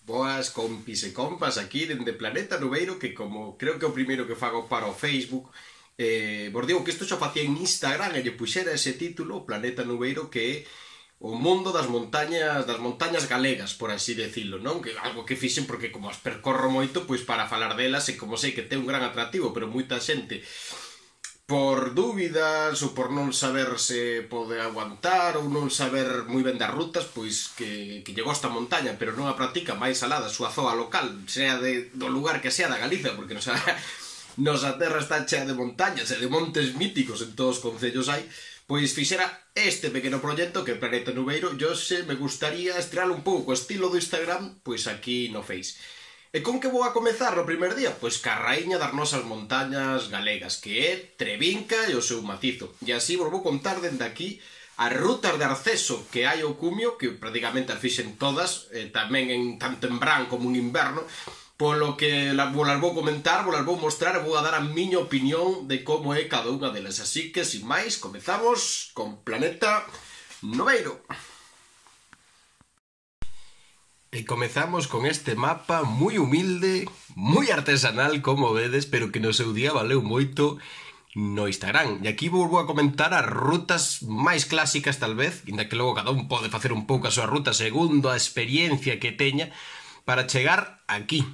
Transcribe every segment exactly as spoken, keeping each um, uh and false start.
Boas compis e compas aquí dende Planeta Nubeiro, que como creo que é o primeiro que fago para o Facebook, eh, vos digo que isto xa facía en Instagram e lle puxera ese título, Planeta Nubeiro, que é o mundo das montañas das montañas galegas, por así decirlo, non? Que algo que fixen porque como as percorro moito, pois para falar delas e como sei que ten un gran atractivo, pero moita xente por dúbidas ou por non saber se pode aguantar ou non saber moi ben das rutas, pois que, que lle gosta a montaña pero non a practica máis alá da súa zoa local, sea de, do lugar que sea da Galicia, porque nosa, nosa terra está chea de montañas e de montes míticos, en todos os concellos hai, pois fixera este pequeno proxecto que é Planeta Nubeiro. Yo se me gustaría estrear un pouco o estilo do Instagram, pois aquí no Face. E con que vou a comezar no primer día? Pois ca raíña das nosas montañas galegas, que é Trevinca e o seu macizo. E así vos vou contar dende aquí as rutas de acceso que hai ao cumio, que prácticamente as fixen todas, eh, tamén en, tanto en verán como en inverno, polo que las vou, las vou comentar, vou las vou mostrar e vou a dar a miña opinión de como é cada unha delas. Así que, sin máis, comezamos con Planeta Nubeiro. E comezamos con este mapa moi humilde, moi artesanal, como vedes, pero que no seu día valeu moito no Instagram. E aquí vou a comentar as rutas máis clásicas, tal vez, inda que logo cada un pode facer un pouco a súa ruta segundo a experiencia que teña, para chegar aquí,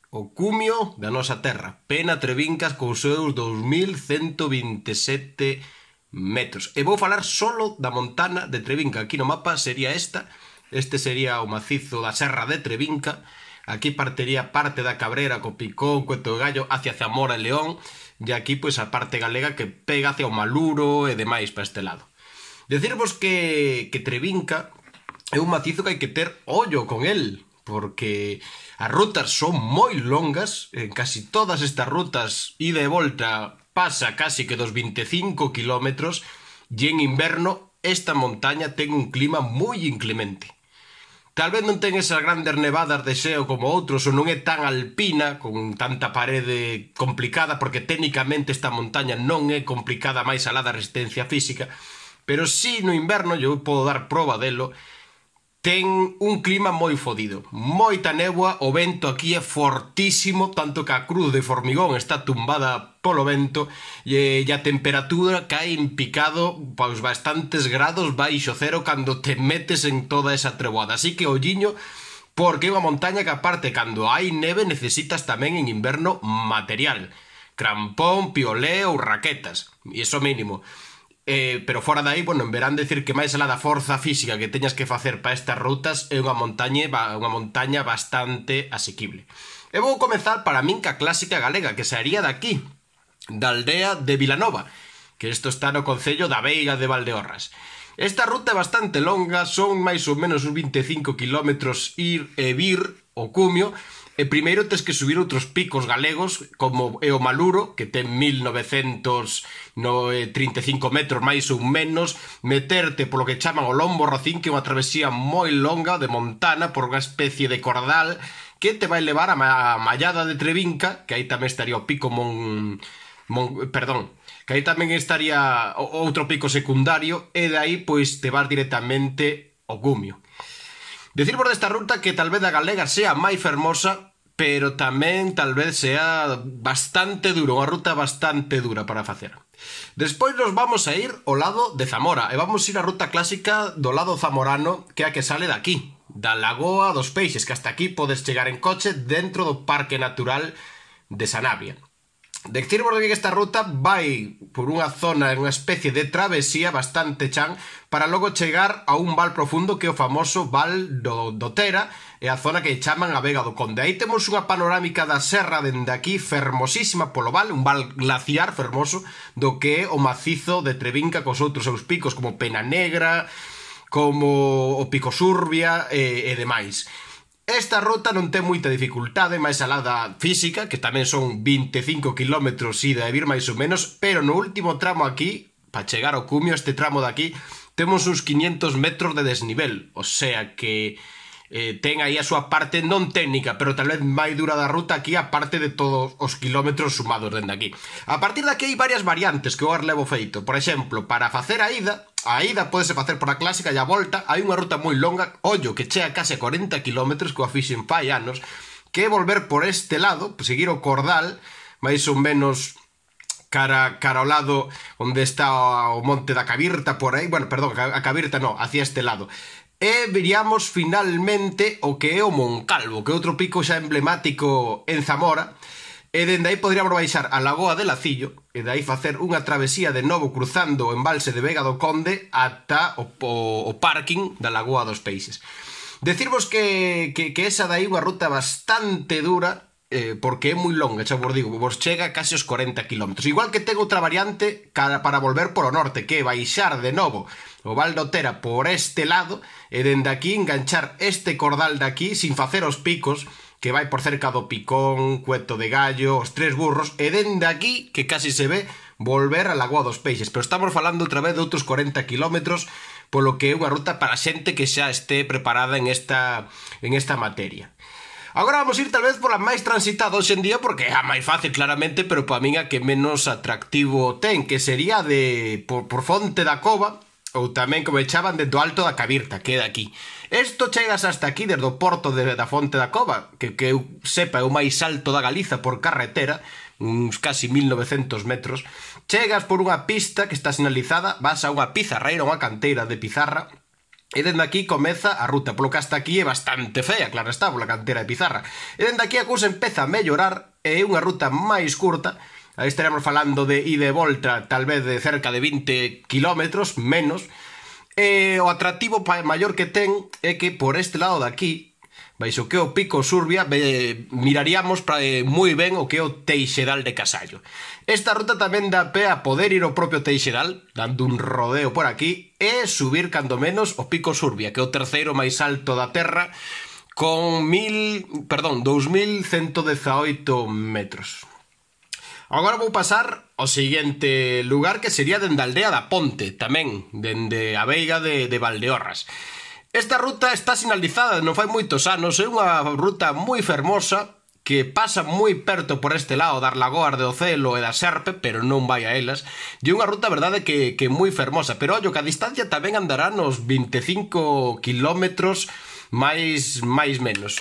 o cumio da nosa terra, Pena Trevincas, cos seus dous mil cento vinte e sete metros. E vou falar solo da montana de Trevinca. Aquí no mapa sería esta. Este sería o macizo da Serra de Trevinca. Aquí partiría parte da Cabrera, co Picón, Cueto de Gallo, hacia Zamora e León. E aquí, pois, a parte galega que pega hacia o Maluro e demais para este lado. Decirvos que, que Trevinca é un macizo que hai que ter ollo con el, porque as rutas son moi longas. En casi todas estas rutas, ida e volta, pasa casi que dos vinte e cinco kilómetros, e en inverno esta montaña ten un clima moi inclemente. Tal vez non ten esas grandes nevadas de xeo como outros, ou non é tan alpina, con tanta parede complicada, porque técnicamente esta montaña non é complicada máis alá da resistencia física, pero si no inverno, eu podo dar proba delo, ten un clima moi fodido, moita néboa, o vento aquí é fortísimo, tanto que a cruz de formigón está tumbada polo vento, e a temperatura cae en picado pois bastantes grados baixo cero cando te metes en toda esa treboada. Así que olliño, porque é unha montaña que aparte cando hai neve necesitas tamén en inverno material, crampón, piolé ou raquetas, e iso mínimo. Eh, pero fora dai, bueno, en verán decir que máis alá da forza física que teñas que facer para estas rutas é unha montaña, unha montaña bastante asequible. E vou comezar para min ca clásica galega, que sería daqui, da aldea de Vilanova, que isto está no concello da Veiga de Valdeorras. Esta ruta é bastante longa, son máis ou menos uns vinte e cinco kilómetros ir e vir o cumio. E primeiro tes que subir outros picos galegos, como é o Maluro, que ten mil novecentos trinta e cinco metros máis ou menos, meterte polo que chaman o Lombo Rocín, que é unha travesía moi longa de montana por unha especie de cordal que te vai levar a Mallada de Trevinca, que aí tamén estaría o pico Mon... Mon... perdón, que aí tamén estaría outro pico secundario, e de aí pois te vas directamente ao cumio. Decirvos desta ruta que tal vez a galega sea máis fermosa, pero tamén tal vez sea bastante duro, unha ruta bastante dura para facer. Despois nos vamos a ir ao lado de Zamora, e vamos ir á ruta clásica do lado zamorano, que é a que sale daqui, da Lagoa dos Peixes, que hasta aquí podes chegar en coche dentro do Parque Natural de Sanabria. Decirvos que esta ruta vai por unha zona, unha especie de travesía bastante chan, para logo chegar a un val profundo que é o famoso Val do, do Tera, e a zona que chaman a Vega do Conde. Aí temos unha panorámica da serra dende aquí, fermosísima polo val, un val glaciar fermoso, do que é o macizo de Trevinca cos outros seus picos, como Pena Negra, como o Pico Surbia e, e demais. Esta ruta non ten moita dificultade, máis alá da física, que tamén son vinte e cinco kilómetros ida e vir máis ou menos, pero no último tramo aquí, para chegar ao cumio, este tramo de aquí, temos uns quinhentos metros de desnivel, o sea que eh, ten aí a súa parte non técnica, pero tal vez máis dura da ruta aquí, a parte de todos os kilómetros sumados dende aquí. A partir de aquí hai varias variantes que eu as levo feito. Por exemplo, para facer a ida, a ida podese facer por a clásica e a volta hai unha ruta moi longa, ollo, que chega case a corenta kilómetros, que a fixen fai anos, que é volver por este lado, seguir o Cordal, máis ou menos cara, cara ao lado onde está o monte da Cabirta, por aí, bueno, perdón, a Cabirta non, hacia este lado. E veríamos finalmente o que é o Moncalvo, que é outro pico xa emblemático en Zamora, e dende aí podríamos baixar a Lagoa de Lacillo, e de aí facer unha travesía de novo cruzando o embalse de Vega do Conde ata o, o, o parking da Lagoa dos Peixes. Decirvos que, que, que esa dai unha ruta bastante dura, Eh, porque é moi longa, xa vos digo, vos chega case os corenta kilómetros. Igual que ten outra variante cara para volver por o norte, que é baixar de novo o Val de Otera por este lado e dende aquí enganchar este cordal de aquí sin facer os picos, que vai por cerca do Picón, Cueto de Gallo, os Tres Burros, e dende aquí, que casi se ve, volver a Lagoa dos Peixes. Pero estamos falando outra vez de outros corenta kilómetros, polo que é unha ruta para xente que xa este preparada en esta, en esta materia. Agora vamos ir tal vez pola máis transitada hoxe en día, porque é a máis fácil claramente, pero para min a que menos atractivo ten, que sería de por, por Fonte da Cova, ou tamén como echaban desde o Alto da Cabirta, que é de aquí. Isto chegas hasta aquí desde o porto de, da Fonte da Cova, que, que eu sepa é o máis alto da Galiza por carretera, uns casi mil novecentos metros. Chegas por unha pista que está sinalizada, vas a unha pizarreira, unha canteira de pizarra, e dende aquí comeza a ruta, polo que hasta aquí é bastante fea, claro está, pola cantera de pizarra. E dende aquí a cousa empeza a mellorar, e é unha ruta máis curta, aí estaremos falando de ida e volta, tal vez de cerca de vinte kilómetros, menos, e o atractivo maior que ten é que por este lado de aquí, baixo que o Pico Surbia, ve, miraríamos pra, eh, moi ben o que é o Teixedal de Casallo. Esta ruta tamén dá pé a poder ir ao propio Teixedal, dando un rodeo por aquí, e subir cando menos o Pico Surbia, que é o terceiro máis alto da terra, con mil, perdón, dous mil cento dezaoito metros. Agora vou pasar ao seguinte lugar, que sería dende a aldea da Ponte, tamén, dende a veiga de, de Valdeorras. Esta ruta está sinalizada non fai moitos anos, é unha ruta moi fermosa que pasa moi perto por este lado das lagoas de Ocelo e da Serpe, pero non vai a elas, e unha ruta, verdade, que, que moi fermosa, pero ollo que a distancia tamén andará nos vinte e cinco kilómetros máis, máis menos.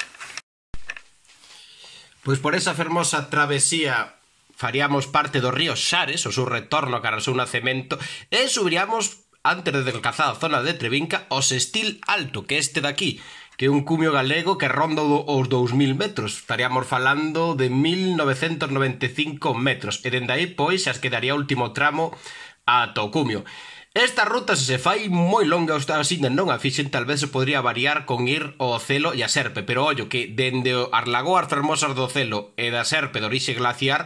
Pois por esa fermosa travesía faríamos parte do río Xares, o seu retorno cara ao seu nacemento, e subiríamos antes de alcanzar a zona de Trevinca, o Sestil Alto, que este daqui, que é un cumio galego que ronda os dous mil metros. Estaríamos falando de mil novecentos noventa e cinco metros, e dende aí, pois, xa quedaría o último tramo ata o cumio. Esta ruta, se se fai moi longa, así non a fixen, tal vez se podría variar con ir ao Ocelo e a Serpe, pero ollo que dende as lagoas fermosas do Ocelo e da Serpe de orixe glaciar,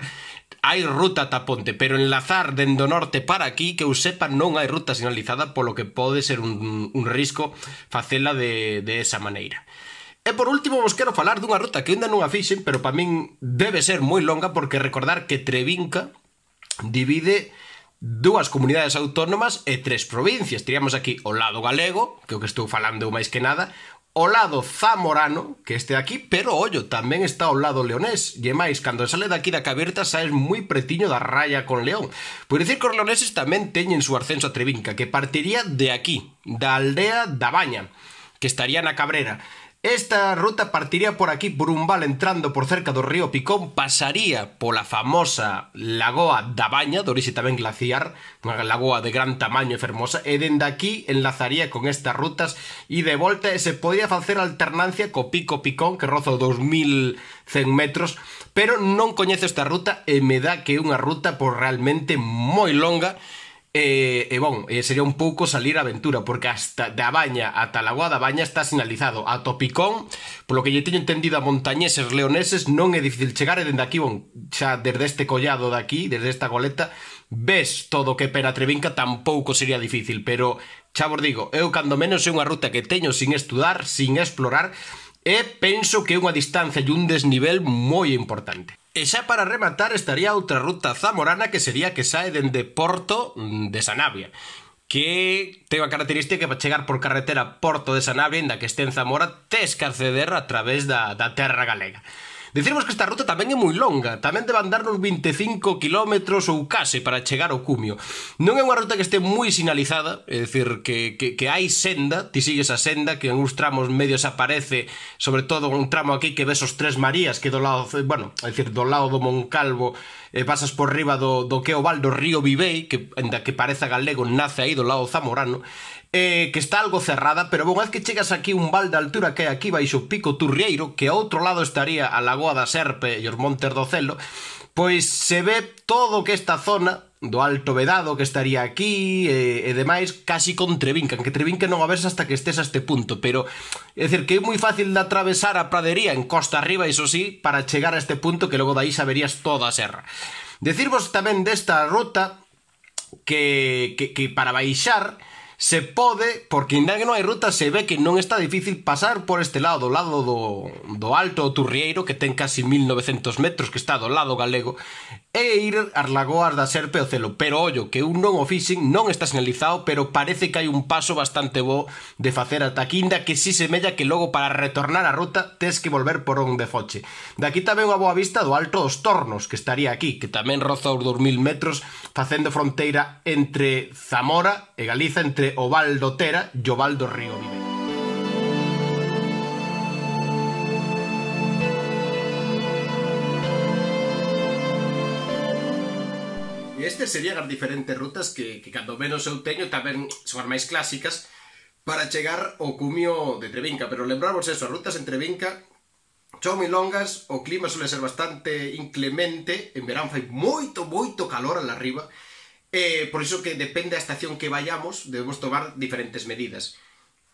hai ruta ata Ponte, pero enlazar dende o norte para aquí, que eu sepa, non hai ruta sinalizada, polo que pode ser un, un risco facela de, de esa maneira. E por último vos quero falar dunha ruta que ainda non a fixen, pero para min debe ser moi longa, porque recordar que Trevinca divide dúas comunidades autónomas e tres provincias. Teríamos aquí o lado galego, que é o que estou falando máis que nada, o lado zamorano, que este aquí, pero ollo, tamén está o lado leonés, e máis, cando sale daqui da Cabirta saes moi pretiño da raya con León. Por dicir que os leoneses tamén teñen su ascenso a Trevinca, que partiría de aquí, da aldea da Baña, que estaría na Cabrera. Esta ruta partiría por aquí, por un val entrando por cerca do río Picón, pasaría pola famosa Lagoa da Baña, de orixe tamén glaciar, unha lagoa de gran tamaño e fermosa, e dende aquí enlazaría con estas rutas e de volta, e se podría facer alternancia co Pico Picón, que roza os dous mil cen metros, pero non coñezo esta ruta e me dá que é unha ruta por realmente moi longa. E, e bon, sería un pouco salir a aventura, porque hasta da Baña ata a Lagoa da Baña está sinalizado. A Topicón, polo que lle teño entendido a montañeses leoneses, non é difícil chegar, e dende aquí, bon, xa desde este collado de aquí, desde esta goleta, ves todo o que pera Trevinca, tampouco sería difícil, pero xa vos digo, eu cando menos é unha ruta que teño sin estudar, sin explorar, e penso que é unha distancia e un desnivel moi importante. E xa para rematar estaría outra ruta zamorana, que sería que sae dende Porto de Sanabria, que ten a característica que para chegar por carretera a Porto de Sanabria, ainda que este en Zamora, tes que acceder a través da, da terra galega. Dicirmos que esta ruta tamén é moi longa, tamén debe andar nos vinte e cinco kilómetros ou case para chegar ao cumio. Non é unha ruta que este moi sinalizada, é dicir, que, que, que hai senda, ti sigues a senda, que en uns tramos medios aparece, sobre todo un tramo aquí que ves os Tres Marías, que do lado, bueno, é dicir, do lado do Moncalvo, eh, pasas por riba do, do que é o val do río Vivei, que, ainda que pareza galego, nace aí do lado zamorano, Eh, que está algo cerrada, pero unha vez que chegas aquí un val de altura que hai aquí baixo o Pico Turrieiro, que ao outro lado estaría a Lagoa da Serpe e os Montes do Celo, pois se ve todo o que esta zona do Alto Vedado que estaría aquí e, e demais casi con Trebinca, que Trebinca non a ves hasta que estés a este punto, pero é dicir que é moi fácil de atravesar a pradería en costa arriba, iso sí, para chegar a este punto que logo daí saberías toda a serra. Decirvos tamén desta ruta que, que, que para baixar se pode, porque ainda que non hai ruta, se ve que non está difícil pasar por este lado, do lado do, do Alto Turrieiro, que ten casi mil novecentos metros, que está do lado galego, e ir ás Lagoas da Serpe e o Celo. Pero, ollo, que un non o fixen, non está sinalizado, pero parece que hai un paso bastante bo de facer ata aquí, inda que si semella que logo para retornar a ruta tes que volver por onde foche. De aquí tamén unha boa vista do Alto dos Tornos, que estaría aquí, que tamén roza os dous mil metros, facendo fronteira entre Zamora e Galiza, entre o val do Tera e o val do río Vivei. E estes serían as diferentes rutas que, que cando menos eu teño tamén son as máis clásicas para chegar ao cumio de Trebinca, pero lembrarvos eso, as rutas en Trebinca son moi longas, o clima suele ser bastante inclemente, en verán fai moito, moito calor alá arriba, Eh, por iso que depende da estación que vayamos, debemos tomar diferentes medidas.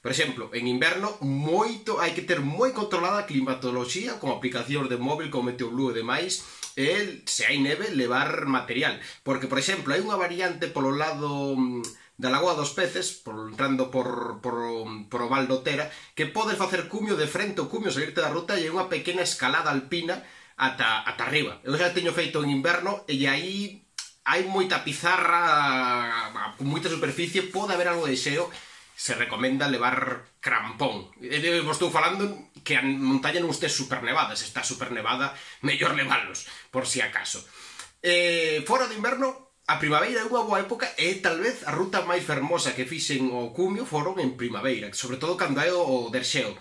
Por exemplo, en inverno moito hai que ter moi controlada a climatoloxía con aplicacións de móvil como Meteoblue e demais, e se hai neve levar material, porque por exemplo hai unha variante polo lado da Lagoa dos Peces, por, entrando por, por, por o val do Tera, que podes facer cumio de frente ao cumio, salirte da ruta e hai unha pequena escalada alpina ata, ata arriba. Eu xa teño feito en inverno e aí hai moita pizarra con moita superficie, pode haber algo de xeo, se recomenda levar crampón. E vos estou falando que a montaña non este super nevada, se está super nevada, mellor levalos, por si acaso. Eh, fora de inverno, a primavera é unha boa época e tal vez a ruta máis fermosa que fixen o cumio foron en primavera, sobre todo cando é o derxeo.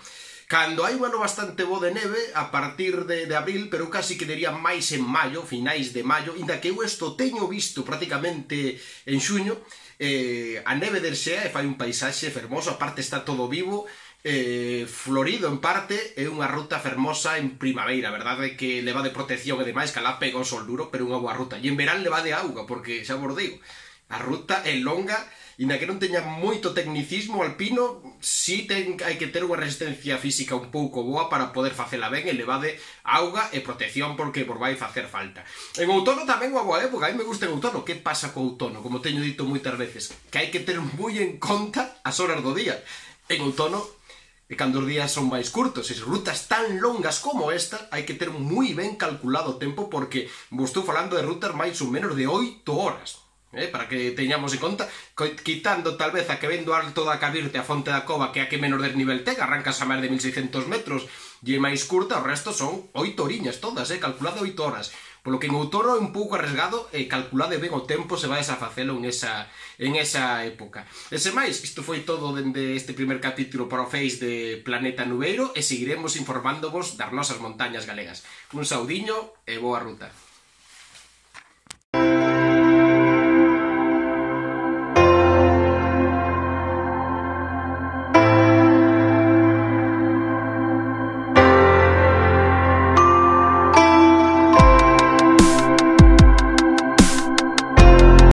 Cando hai un ano bastante bo de neve, a partir de, de abril, pero eu casi que diría máis en maio, finais de maio, inda que eu isto teño visto prácticamente en xuño, eh, a neve derxea e fai un paisaxe fermoso, aparte está todo vivo, eh, florido en parte, é unha ruta fermosa en primavera, a verdade é que leva de protección e demais, que alá pega o sol duro, pero unha boa ruta. E en verán leva de auga, porque xa vos digo, a ruta é longa, inda que non teña moito tecnicismo alpino, si ten, hai que ter unha resistencia física un pouco boa para poder facela ben e levade auga e protección porque vos vai facer falta. En outono tamén unha boa época, a mí me gusta en outono. Que pasa co outono? Como teño dito moitas veces, que hai que ter moi en conta as horas do día. En outono, e cando os días son máis curtos, e rutas tan longas como esta, hai que ter moi ben calculado o tempo porque vos estou falando de rutas máis ou menos de oito horas. Eh, para que teñamos en conta, quitando tal vez a que ven do alto da Cabirte a Fonte da Cova, que é a que menos desnivel ten, arrancas a máis de mil seiscentos metros e é máis curta, o resto son oito oriñas todas, eh, calculado oito horas. Polo que en outono é un pouco arriesgado e calculade ben o tempo se vais a facelo en esa, en esa época. E se máis, isto foi todo dende este primer capítulo para o Face de Planeta Nubeiro e seguiremos informándovos das nosas montañas galegas. Un saudiño e boa ruta.